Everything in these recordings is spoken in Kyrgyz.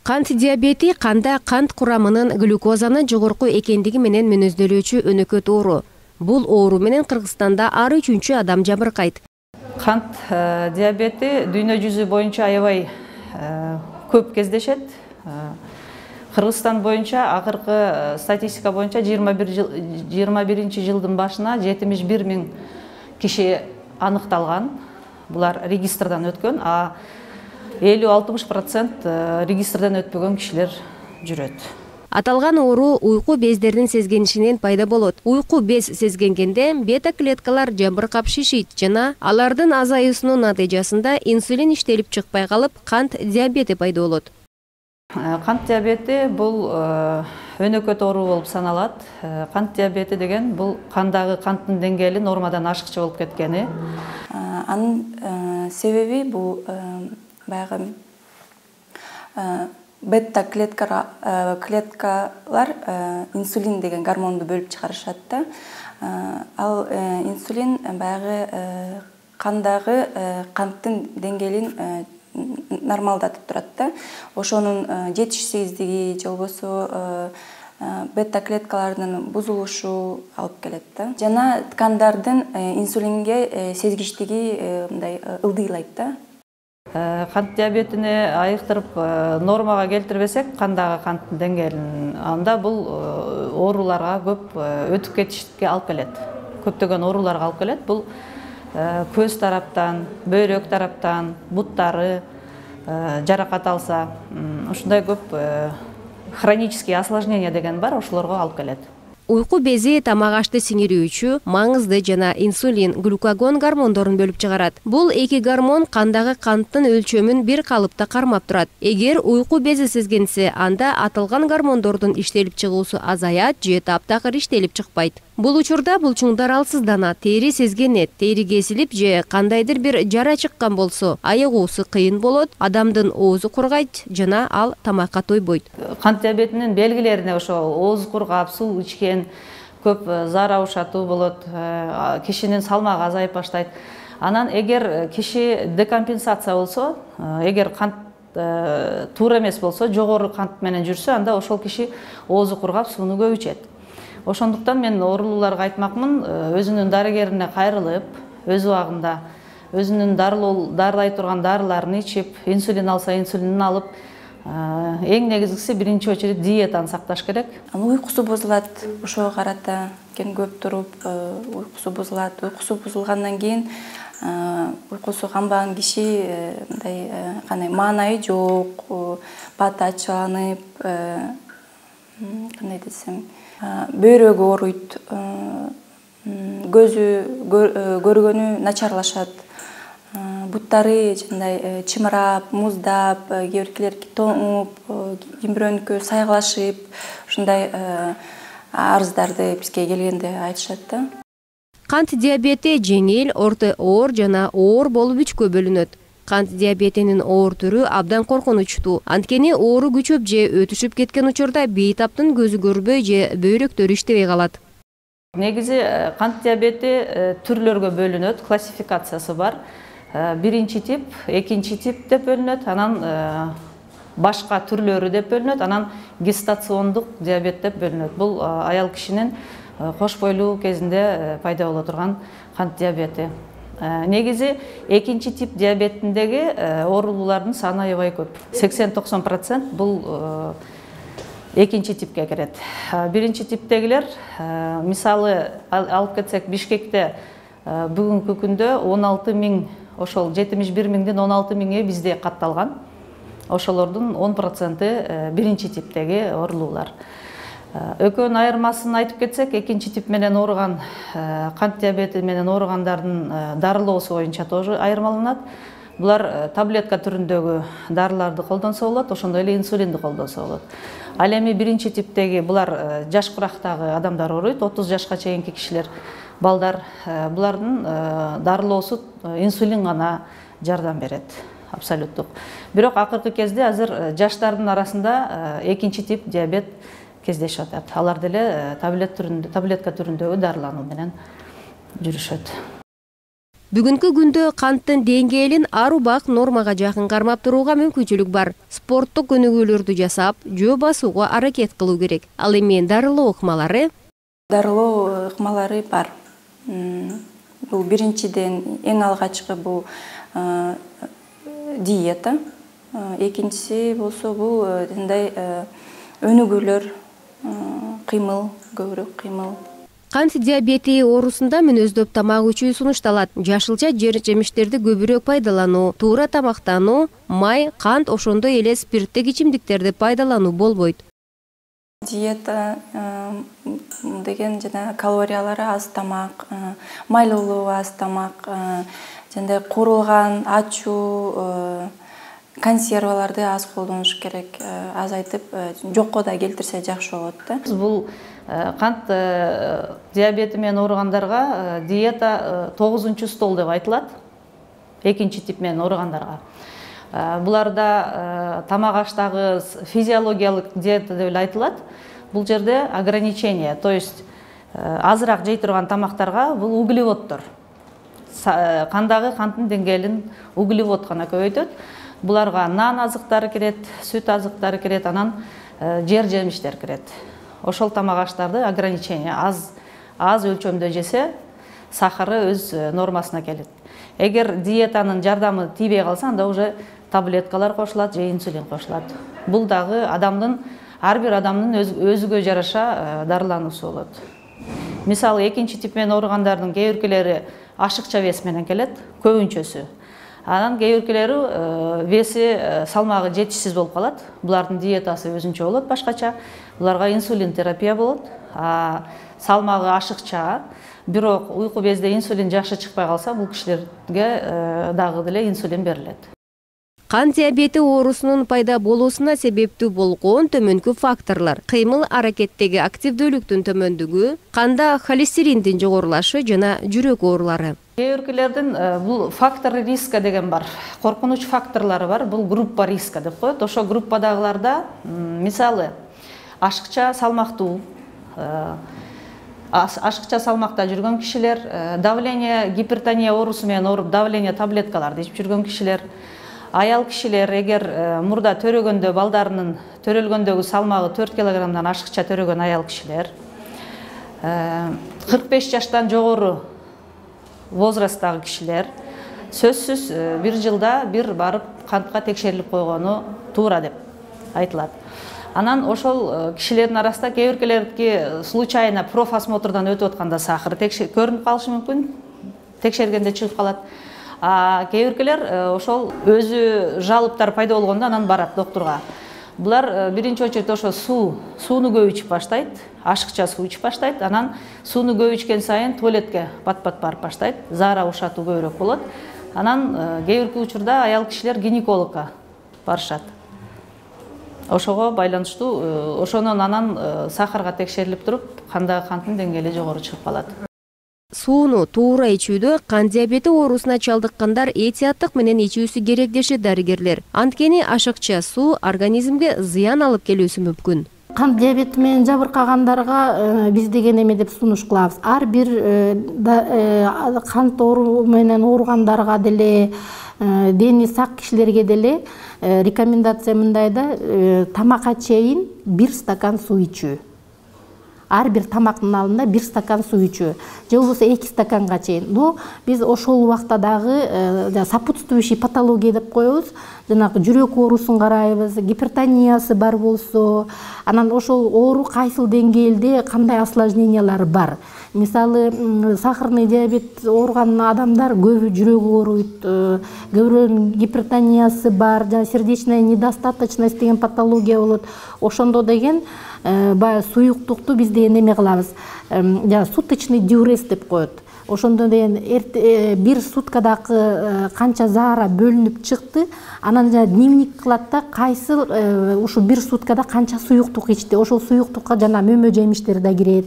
Кант диабети канда кант курамынын глюкозанын жогорку экендиги менен мүнөздөлүүчү өнөкөт оору. Бул оору менен Кыргызстанда ар 3-чү адам жабыркайт. Кант диабети дүйнө жүзү боюнча аябай көп кездешет. Кыргызстан боюнча акыркы статистика боюнча 21-жылдын башына 71 000 киши аныкталган. Булар регистрдан өткөн, а 50-60% регистрдан өтпөгөн кишилер жүрөт. Аталган оору уйку бездеринин сезгенишинен пайда болот. Уйку без сезгенгенде бета клеткалар жабыркап шишийт жана алардын азаюусунун натыйжасында инсулин иштелип чыкпай калып, кант диабети пайда болот. Кант диабети бул өнөкөт оору болуп саналат. Кант диабети деген бул кандагы канттын деңгээли нормадан ашыкчы болуп кеткени. Анын себеби бул баягы бета клеткалар инсулин деген гормонду бөлүп чыгарышат да. Ал инсулин баягы кандагы канттын деңгээлин нормалдатып турат да. Ошонун жетишсиздиги же болбосо бета клеткалардын бузулушу алып келет да. Жана ткандардын инсулинге сезгичтиги мындай ылдыйлайт да. Кант диабетини айыктырып нормага келтирбесек, кандагы канттын деңгээлин, анда бул ооруларга көп өтүп кетишке алып келет. Көптөгөн ооруларга алып келет. Бул көз тараптан, бөйрөк тараптан, буттары жаракат алса, ушундай көп хронический осложнение деген бар, ошолорго алып келет. Уйку бези тамак ашты сиңирүүчү, маңызды жана инсулин, глюкагон гормондорун бөлүп чыгарат. Бул эки гормон кандагы канттын өлчөмүн бир калыпта кармап турат. Эгер уйку бези сезгенсе, анда аталган гормондордун иштелип чыгуусу азаят же таптакыр иштелип чыкпайт. Бул учурда булчуңдар алсызданат, тери сезгенет, тери кесилип же кандайдыр бир жара чыккан болсо, айыгуусу кыйын болот, адамдын оозу кургайт жана ал тамакка тойбойт. Кант диабетинин белгилерине ошо ооз кургап, суу ичкен, көп зар аушатуу болот, кишинин салмагы азайып баштайт. Анан эгер киши декомпенсация болсо, эгер кант туура эмес болсо, жогору кант менен жүрсө, анда ошол киши оозу кургап, сууну көп ичет. Ошондуктан мен оорулууларга айтмакмын, өзүнүн дарыгерине кайрылып, өз убагында өзүнүн дарылай турган дарыларын ичип, инсулин алса инсулинин алып, эң негизгиси биринчи очередь диетаны сакташ керек. Уйкусу бузулат, ошого карата көп туруп, уйкусу бузулат. Уйкусу бузулгандан кийин уйкусу канбаган киши мындай кандай маанайы жок, баты ачыланып, кандай десем, бөйрөгү ооруйт, көзү көргөнү начарлашат, буттары жандай чымырап, муздап, кээ биркилер тоңуп, ким бирөөнүкү сайгалашып, ушундай арыздарды бизге келгенде айтышат да. Кант диабети жеңил, орто оор жана оор болуп үчкө бөлүнөт. Кант диабетинин оор түрү абдан коркунучтуу. Анткени оору күчөп же өтүшүп кеткен учурда бейтаптын көзү көрбөй же бөйрөктөрү иштебей калат. Негизи кант диабети түрлөргө бөлүнөт, классификациясы бар. Биринчи тип, экинчи тип деп бөлүнөт, анан башка түрлөрү деп бөлүнөт, анан гестациондук диабет деп бөлүнөт. Бул аял кишинин кош бойлуу кезинде пайда боло турган кант диабети. Негизи экинчи тип диабетиндеги оорулуулардын саны аябай көп. 80-90% бул экинчи типке кирет. Биринчи типтегилер, мисалы алып кетсек, Бишкекте бүгүнкү күндө 16 000, ошол 71 000ден 16 000 бизде катталган. Ошолордун 10% биринчи типтеги оорулуулар. Экөөнүн айырмасын айтып кетсек, экинчи тип менен ооруган, кант диабети менен ооругандардын дарылоосу боюнча тоже айырмаланат. Булар таблетка түрүндөгү дарыларды колдонсо болот, ошондой эле инсулинди колдонсо болот. Ал эми биринчи типтеги булар жаш курактагы адамдар ооруйт, 30 жашка чейинки кишилер, балдар, булардын дарылоосу инсулин гана жардам берет, абсолюттук. Бирок акыркы кезде азыр жаштардын арасында экинчи тип диабет кездешип атат. Алар деле таблетка түрүндөгү дарылануу менен жүрүшөт. Бүгүнкү күндө канттын деңгээлин ар убак нормага жакын кармап турууга мүмкүнчүлүк бар. Спорттук көнүгүүлөрдү жасап, жөө басууга аракет кылуу керек. Ал эми дарылоо ыкмалары? Дарылоо ыкмалары бар. Бул биринчиден эң алгачкы бул диета. Экинчиси болсо бул мындай өнүгүүлөр, кыймыл, көбүрөөк кыймыл. Кант диабети оорусунда мүнөздөп тамак ичүү сунушталат. Жашылча жемиштерди көбүрөөк пайдалануу, туура тамактануу, май, кант ошондой эле спирттик ичимдиктерди пайдалануу болбойт. Диета деген жана калориялары аз тамак, майлуулугу аз тамак, жана куурулган, ачуу, консерваларды аз колдонуш керек. Азайтып, жокко да келтирсе жакшы болот да. Бул кант диабети менен ооругандарга диета 9-стол деп айтылат. Экинчи тип менен ооругандарга. Буларда тамак аштагы физиологиялык диета деп айтылат. Бул жерде ограничение, то есть азыраак жей турган тамактарга бул углеводдор. Кандагы канттын деңгээлин углевод гана көбөйтөт. Буларга нан азыктары кирет, сүт азыктары кирет, анан жер жемиштер кирет. Ошол тамак аштарды ограничение аз өлчөмдө жесе, сахары өз нормасына келет. Эгер диетанын жардамы тийбей калса, анда уже таблеткалар кошулат же инсулин кошулат. Бул дагы ар бир адамдын өзүгө жараша дарылануусу болот. Мисалы, экинчи тип менен ооругандардын кээ биркилери ашыкча вес менен келет, көбүнчөсү. Анан кээ биркилери веси, салмагы жетишсиз болуп калат. Булардын диетасы өзүнчө болот, башкача. Буларга инсулин терапия болот. Салмагы ашыкча, бирок уйку безде инсулин жакшы чыкпай калса, бул кишилерге дагы деле инсулин берилет. Кант диабети оорусунун пайда болуусуна себептүү болгон төмөнкү факторлор: кыймыл аракеттеги активдүүлүктүн төмөндүгү, канда холестериндин жогорулашы жана жүрөк оорулары. Кээ биркилердин бул фактор риска деген бар, коркунуч факторлору бар. Бул группа риска деп коет. Ошо группадагыларда, мисалы, ашыкча салмактуу, ашыкча салмакта жүргөн кишилер, давление, гипертония оорусу менен ооруп, давление таблеткаларды ичип жүргөн кишилер, аял кишилер, эгер мурда төрөгөндө балдарынын төрөлгөндөгү салмагы 4 килограммдан ашыкча төрөгөн аял кишилер, 45 жаштан жогору возрасттагы кишилер, сөзсүз бир жылда бир барып кантка текшерилип койгону туура деп айтылат. Анан ошол кишилердин арасында кээ биркилердики случайно профосмотрдан өтүп атканда сахары көрүнүп калышы мүмкүн, текшергенде чыгып калат. Кээ биркилер ошол өзү жалыптар пайда болгондо анан барат доктурга. Булар биринчи очередь ошо сууну көп ичип баштайт, ашыкча суу ичип баштайт, анан сууну көп ичкен сайын туалетке пат-пат барып баштайт, заара ушатуу көбүрөөк болот. Анан кээ бирки учурда аял кишилер гинекологко барышат. Ошого байланыштуу, ошонун анан сахарга текшерилип туруп, кандагы канттын деңгээли жогору чыгып калат. Сууну туура ичүүдө кант диабети оорусуна чалдыккандар этияттык менен ичүүсү керек дешет дарыгерлер. Анткени ашыкча суу организмге зыян алып келүүсү мүмкүн. Кант диабети менен жабыркагандарга биз деген эме деп сунуш кылабыз. Ар бир кант оору менен ооругандарга деле, дени сак кишилерге деле рекомендация мындай да, тамакка чейин 1 стакан суу ичүү. Ар бир тамактын алдында 1 стакан суу ичүү, же болбосо 2 стаканга чейин. Но биз ошол убакта дагы сопутствующий патология деп коебуз. Жанагы жүрөк оорусун карайбыз, гипертониясы бар болсо, анан ошол оору кайсыл деңгээлде кандай осложнениялары бар. Мисалы, сахарный диабет ооруган адамдар көбү жүрөгү ооруйт, көбүрөөнүн гипертониясы бар, жана сердечная недостаточность деген патология болот. Ошондо деген баягы суюктукту биз деген эме кылабыз, суточный диурез деп коет. Ошондо деген бир суткадагы канча заара бөлүнүп чыкты, анан дневник кылат да, кайсыл ушу бир суткада канча суюктук ичти. Ошол суюктукка жана мөмө жемиштер да кирет,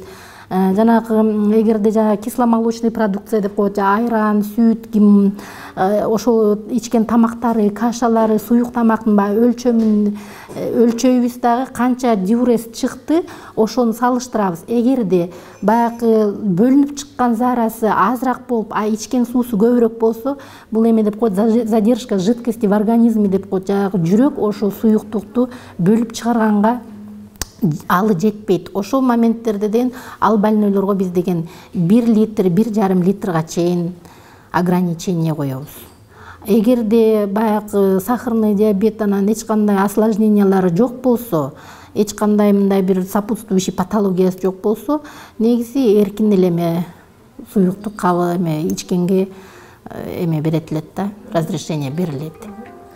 жанагы эгерде жанагы кисломолочный продукция деп коет, айран, сүт, ошо ичкен тамактары, кашалары, суюк тамактын баягы өлчөйүбүз дагы канча диурез чыкты, ошону салыштырабыз. Эгерде баягы бөлүнүп чыккан зарасы азыраак болуп, ичкен суусу көбүрөөк болсо, бул эме деп коет, задержка жидкости в организме деп коет. Жанагы жүрөк ошо суюктукту бөлүп чыгарганга алы жетпейт. Ошол моменттерде деген ал больнойлорго биз деген 1 литр, 1,5 литрга чейин ограничение коебуз. Эгерде баягы сахарный диабет анан эч кандай осложнениялары жок болсо, эч кандай мындай бир сопутствующий патологиясы жок болсо, негизи эркин эле суюктук кабыл ичкенге берет элет да, разрешение берилет.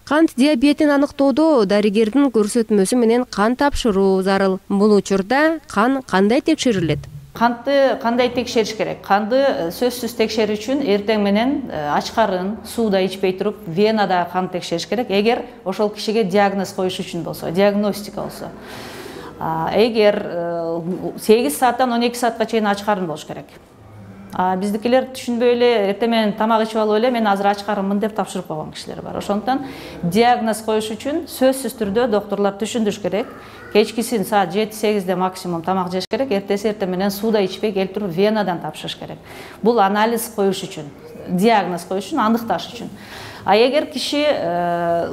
Кант диабетин аныктоодо дарыгердин көрсөтмөсү менен кан тапшыруу зарыл. Бул учурда кан кандай текшерилет? Кантты кандай текшериш керек? Канды сөзсүз текшерүү үчүн эртең менен ач карын, сууда ичпей туруп, венада кан текшериш керек. Эгер ошол кишиге диагноз коюш үчүн болсо, диагностика болсо. Эгер 8 сааттан 12 саатка чейин ач карын болуш керек. Биздикилер түшүнбөй эле эртең менен тамак ичип алып эле мен азыр ач карынмын деп тапшырып койгон кишилер бар. Ошондуктан диагноз коюш үчүн сөзсүз түрдө доктурлар түшүндүрүш керек. Кечкисин саат 7-8де максимум тамак жеш керек, эртеси эртең менен сууда ичпей келип туруп венадан тапшырыш керек. Бул анализ коюш үчүн, диагноз коюш үчүн, аныкташ үчүн. Эгер киши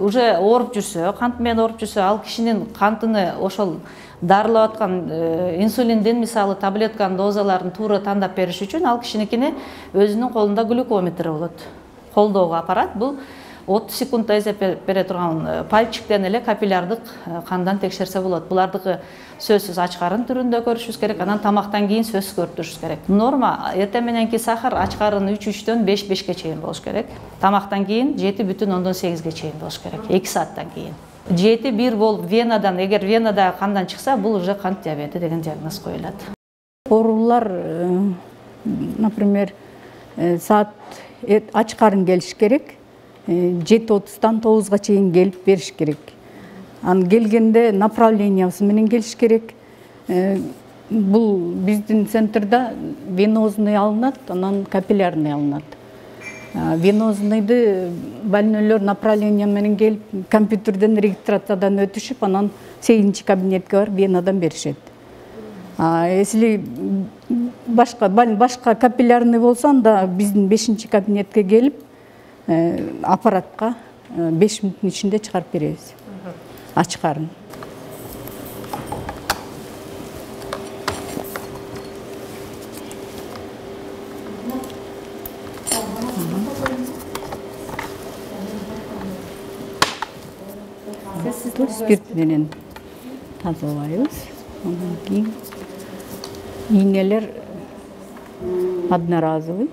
уже ооруп жүрсө, кант менен ооруп жүрсө, ал кишинин кантыны ошол дарылап аткан инсулиндин мисалы таблетканын дозаларын туура тандап бериш үчүн ал кишиникини өзүнүн колунда глюкометр болот. Колдоого аппарат, бул 30 секундда эзеп бере турган пальчиктен эле капиллярдык кандан текшерсе болот. Булардыкы сөзсүз ач карын түрүндө көрүшүбүз керек, анан тамактан кийин сөзсүз көрүшүбүз керек. Норма эртең мененки сахар ач карын 3,3дөн 5,5ке чейин болуш керек. Тамактан кийин 7,8ге чейин болуш керек, 2 сааттан кийин. 7,1 болуп венадан, эгер венада кандан чыкса, бул уже кант диабети деген диагноз коюлат. Оорулар, например, саат ач карын келиш керек, 7:30дан 9га чейин келип бериш керек. Анан келгенде направлениясы менен келиш керек. Бул биздин центрда венозный алынат, анан капиллярный алынат. Венозныйды больнойлор направление менен келип, компьютерден регистрациядан өтүшүп, анан 8-чи кабинетке барып венадан беришет. Если башка капиллярный болсо, анда биздин 5-чи кабинетке келип, аппаратка 5 мүнөттүн ичинде чыгарып беребиз. Ач карын. Спирт менен тазалайбыз. Андан кийин ийнелер одноразовый.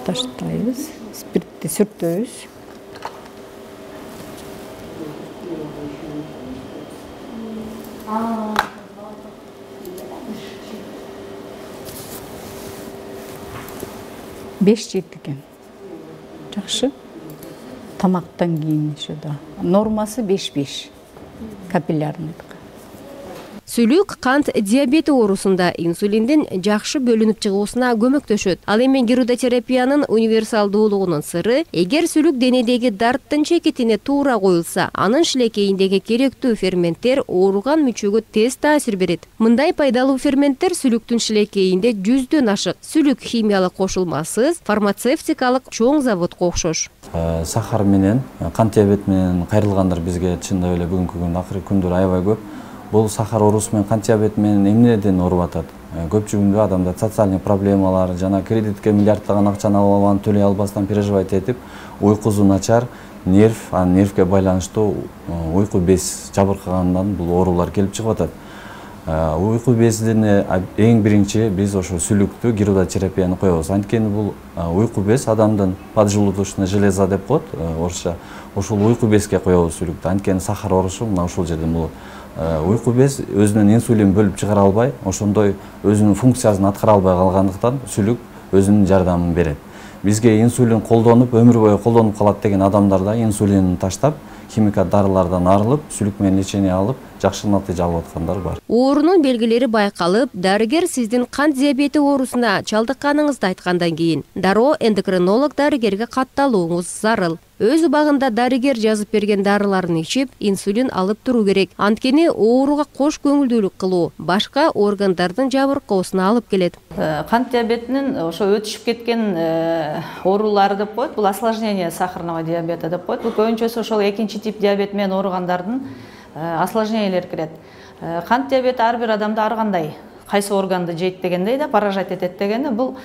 Таштайбыз. Спиртти сүртөбүз. Беш жетти экен. Жакшы. Тамактан кийин ошо да. Нормасы 5,5 капиллярный. Сүлүк кант диабети оорусунда инсулиндин жакшы бөлүнүп чыгуусуна көмөктөшөт. Ал эми гирудотерапиянын универсалдуулугунун сыры, эгер сүлүк денедеги дарттын чекитине туура коюлса, анын шилекейиндеги керектүү ферменттер ооруган мүчөгө тез таасир берет. Мындай пайдалуу ферменттер сүлүктүн шилекейинде 100дөн ашык. Сүлүк химиялык кошулмасыз фармацевтикалык чоң заводко окшош. Сахар менен, кант диабет менен кайрылгандар бизге чындап эле бүгүнкү күндө акыркы күндөр аябай көп. Бул сахар оорусу менен кант диабети менен эмнеден ооруп атат? Көпчүлүгүндө адамдар социальный проблемалар, жана кредитке миллиарддаган акчаны алып алган, төлөй албастан переживать этип, уйкусу начар, нервке байланыштуу уйку без жабыркагандан бул оорулар келип чыгып атат. Уйку безине эң биринчи биз ошо сүлүктү гирудотерапияны коебуз. Анткени бул уйку без адамдын поджелудочная железа деп коет, орусча. Ошол уйку безге коебуз сүлүктү. Анткени сахар оорусу мына ушул жерден болот. Уйку без өзүнүн инсулин бөлүп чыгара албай, ошондой өзүнүн функциясын аткара албай калгандыктан сүлүк өзүнүн жардамын берет. Бизге инсулин колдонуп, өмүр бою колдонуп калат деген адамдарда инсулинин таштап, химикат дарылардан арылып, сүлүк менен лечение алып, жакшы натыйжа алып аткандар бар. Оорунун белгилери байкалып, дарыгер сиздин кант диабети оорусуна чалдыкканыңызды айткандан кийин дароо эндокринолог дарыгерге катталууңуз зарыл. Өз убагында дарыгер жазып берген дарыларын ичип, инсулин алып туруу керек. Анткени ооруга кош көңүлдүүлүк кылуу башка органдардын жабыркоосуна алып келет. Кант диабетинин ошо өтүшүп кеткен оорулары деп коет. Бул осложнение сахарного диабета деп коет. Бул көбүнчөсү ошол экинчи тип диабет менен ооругандардын осложнениялери кирет. Кант диабети ар бир адамда ар кандай кайсы органды жейт дегендей да, поражать этет дегенде, бул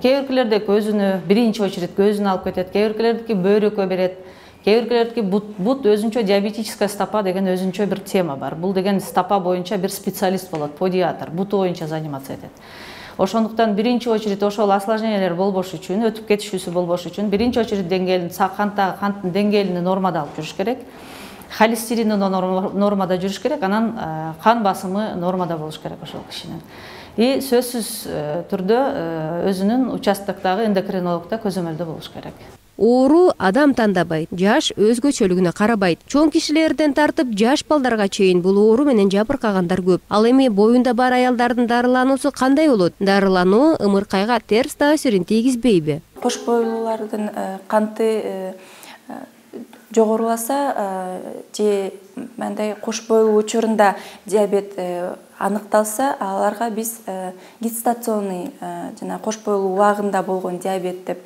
кээ биркилерде көзүнө, биринчи очередь көзүнө алып кетет, кээ биркилердики бөйрөккө берет, кээ биркилердики бут өзүнчө диабетическая стопа деген өзүнчө бир тема бар. Бул деген стопа боюнча бир специалист болот, подиатр, буту боюнча заниматься этет. Ошондуктан биринчи очередь ошол осложнениялер болбош үчүн, өтүп кетишүүсү болбош үчүн биринчи очередь деңгээлин, канттын деңгээлин нормада алып жүрүш керек. Холестерини нормада жүрүш керек, анан кан басымы нормада болуш керек ошол кишинин. И сөзсүз түрдө өзүнүн участоктогу эндокринологдо көзөмөлдө болуш керек. Оору адам тандабайт, жаш өзгөчөлүгүнө карабайт. Чоң кишилерден тартып жаш балдарга чейин бул оору менен жабыркагандар көп. Ал эми боюнда бар аялдардын дарылануусу кандай болот? Дарылануу ымыркайга терс таасирин тийгизбейби? Кош бойлуулардын канты жогоруласа же мындай кош бойлуу учурунда диабет аныкталса, аларга биз гестационный жана кош бойлуу убагында болгон диабет деп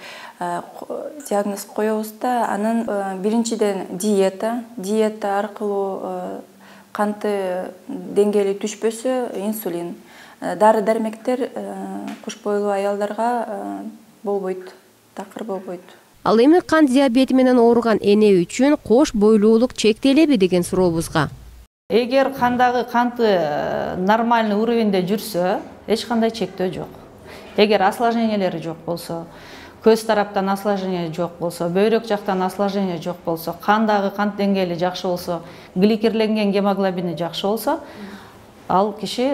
диагноз коебуз да. Анын биринчиден диета аркылуу канты деңгээли түшпөсө инсулин, дары-дармектер кош бойлуу аялдарга болбойт, такыр болбойт. Ал эми кант диабети менен ооруган эне үчүн кош бойлуулук чектелеби деген сурообузга. Эгер кандагы канты нормальный уровеньде жүрсө, эч кандай чектөө жок. Эгер осложнениялери жок болсо, көз тараптан осложнение жок болсо, бөйрөк жактан осложнение жок болсо, кандагы кант деңгээли жакшы болсо, гликерленген гемоглобини жакшы болсо, ал киши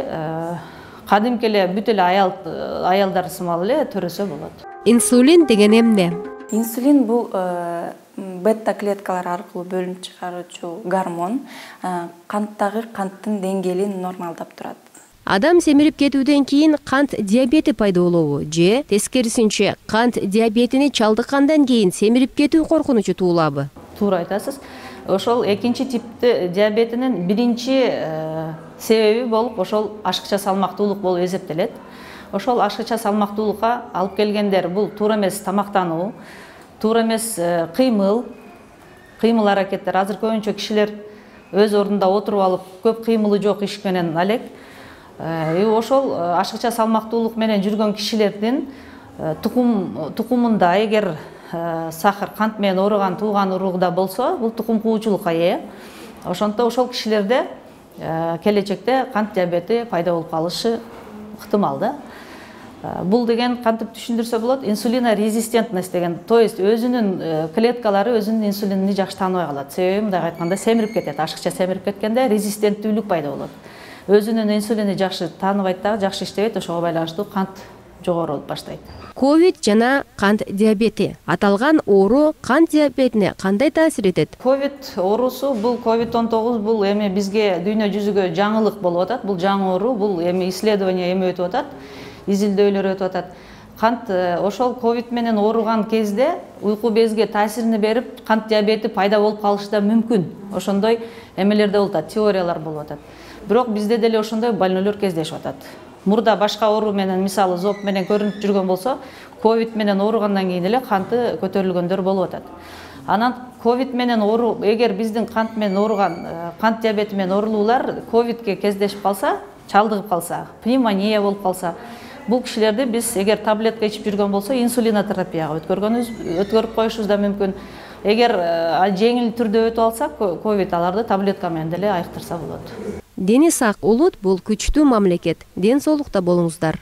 кадимки эле бүт эле аялдар сымал эле төрөсө болот. Инсулин деген эмне? Инсулин бул бета клеткалар аркылуу бөлүнүп чыгаруучу гормон, канттагы канттын деңгээлин нормалдап турат. Адам семирип кетүүдөн кийин кант диабети пайда болобу же тескерисинче кант диабетини чалдыккандан кийин семирип кетүү коркунучу туулабы? Туура айтасыз. Ошол экинчи типти диабетинин биринчи себеби болуп ошол ашыкча салмактуулук болуп эсептелет. Ошол ашыкча салмактуулукка алып келгендер бул туура эмес тамактануу, туура эмес кыймыл аракеттер. Азыр көбүнчө кишилер өз ордунда отуруп алып, көп кыймылы жок иш менен алек. Ошол ашыкча салмактуулук менен жүргөн кишилердин тукумунда эгер сахар, кант менен ооруган тууган уругда болсо, бул тукум куучулукка ээ. Ошондо ошол кишилерде келечекте кант диабети пайда болуп калышы ыктымал да. Бул деген кантип түшүндүрсө болот? Инсулинорезистентность деген, то есть өзүнүн клеткалары өзүнүн инсулинин жакшы тааныбай калат. Себеби мындай айтканда семирип кетет, ашыкча семирип кеткенде резистенттүүлүк пайда болот. Өзүнүн инсулини жакшы тааныбайт дагы, жакшы иштебейт, ошого байланыштуу кант жогору болуп баштайт. Ковид жана кант диабети. Аталган оору кант диабетине кандай таасир этет? Ковид оорусу, бул COVID-19 бул эми бизге дүйнө жүзүгө жаңылык болуп атат. Бул жаңы оору, бул эми исследование эми өтүп атат. Изилдөөлөр өтүп атат. Кант ошол ковид менен ооруган кезде уйку безге таасирин берип, кант диабети пайда болуп калышы да мүмкүн. Ошондой эмелерде болуп атат, теориялар болуп атат. Бирок бизде деле ошондой больноолор кездешип атат. Мурда башка оору менен, мисалы зоб менен көрүнүп жүргөн болсо, ковид менен ооругандан кийин эле канты көтөрүлгөндөр болуп атат. Анан ковид менен оору, эгер биздин кант менен ооруган, кант диабети менен оорулуулар ковидке кездешип калса, чалдыгып калса, пневмония болуп калса, бул кишилерди биз эгер таблетка ичип жүргөн болсо, инсулинотерапияга өткөрүп коюшубуз да мүмкүн. Эгер жеңил түрдө өтүп алсак, ковид аларды таблетка менен деле айыктырса болот. Дени сак улут бул күчтүү мамлекет. Ден соолукта болуңуздар.